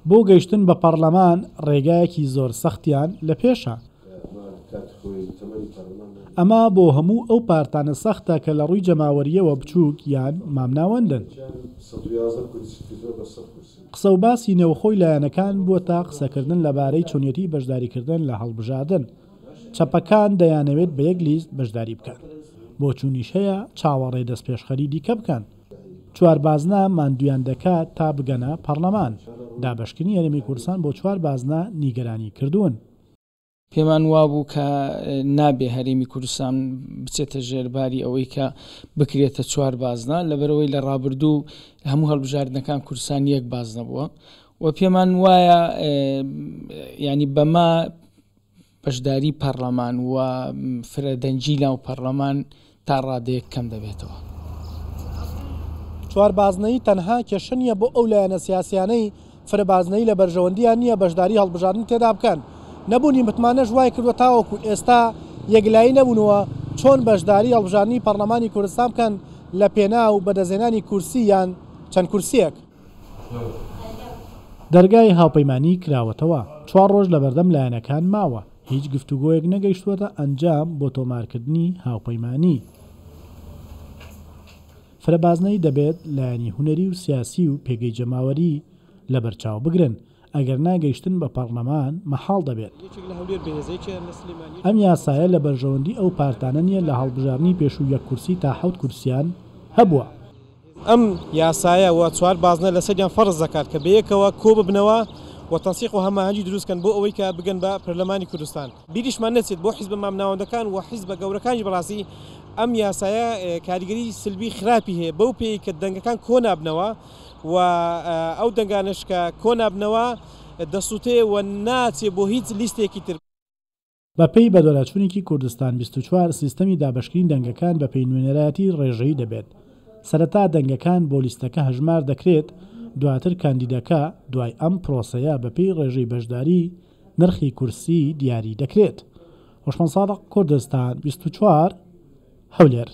بۆ گەیشتن بە پەڕلەمان ڕێگایەکی زۆر سەختیان لە پێشە. ئەمە بۆ هەموو ئەو پارتانە سەختە کە لە ڕووی جەماوەرییەوە بچووک یان مامناوەندن. قسە و باسی نێوخۆی لایەنەکان بووەتە قسەکردن لەبارەی چۆنیەتی بەشداریکردن لە هەڵبژاردن. چەپەکان دەیانەوێت بە یەک لیست بەشداری بکەن. بۆچوونیش هەیە چاوەڕێ دەستپێشخەری دیکە بکەن. چواربازنە ماندوویان دەکات تا بگەنە پەڕلەمان. دابەشکردنی هەرێمی کوردستان بۆ چوار بازنە نیگەرانی کردوون. پێمان وابوو کە نابێ هەرێمی کوردستان بچێتە ژێر باری ئەوەی کە بکرێتە چوار بازنە، لەبەرئەوەی لە ڕابردوو هەموو هەڵبژاردنەکان کوردستان یەک بازنە بووە و پێمان وایە ینی بەمە بەشداری پەڕلەمان و فرەدەنگی ناو پەڕلەمان تا ڕادەیەک کەم دەبێتەوە. چواربازنەیی تەنها کێشە نییە بۆ ئەو لایەنە سیاسیانەی فرەبازنەیی لە بەرژەوەندییان نییە بەشداری هەڵبژاردن تێدا بکەن، نەبوونی متمانەش وایکردووە تاوەکو ئێستا یەکلایی نەبوونەوە چۆن بەشداری هەڵبژاردنی پەڕلەمانی کوردستان بکەن لە پێناو بەدەستهێنانی کورسی یان چەند کورسییەک. دەرگای هاوپەیمانی کراوەتەوە، چوار ڕۆژ لەبەردەم لایەنەکان ماوە، هیچ گفتوگۆیەک نەگەیشتووەتە ئەنجام بۆ تۆمارکردنی هاوپەیمانی. فرەبازنەیی دەبێت لایەنی هونەری و سیاسی و پێگەی جەماوەری لەبەرچاو بگرن، ئەگەرنا گەیشتن بە پەڕلەمان مەحاڵ دەبێت. ئەم یاسایە لە بەرژەوەندی ئەو پارتانە نییە لە هەڵبژاردنی پێشوو یەک کورسی تا حەوت کورسیان هەبووە. ئەم یاسایە و چوار بازنە لەسەریان فەرز دەکات کە بەیەکەوە کۆببنەوە و تەنسیق و هەماهەنگی دروست کەن بۆ ئەوەی کە بگەن بە پەرلەمانی کوردستان. بیریشمان نەچێت بۆ حیزبە مامناوەندەکان و حیزبە گەورەکانیش بەڕاستی ئەم یاسایە کاریگەری سلبی خراپی هەیە بەو پێیەی کە دەنگەکان کۆنابنەوە و ئەو دەنگانەش کە کۆنابنەوە دەسوتێ و ناچێ بۆ هیچ لیستێکی تر. بەپێی بەدواداچوونێکی کوردستان 24، سیستەمی دابەشکردنی دەنگەکان بەپێی نوێنەرایەتی ڕێژەیی دەبێت، سەرەتا دەنگەکان بۆ لیستەکە هەژمار دەکرێت، دواتر کاندیدەکە، دوای ئەم پرۆسەیە بەپێی ڕێژەی بەشداری نرخی کورسی دیاری دەکرێت. هۆشمەند سادق، کوردستان 24، هەولێر.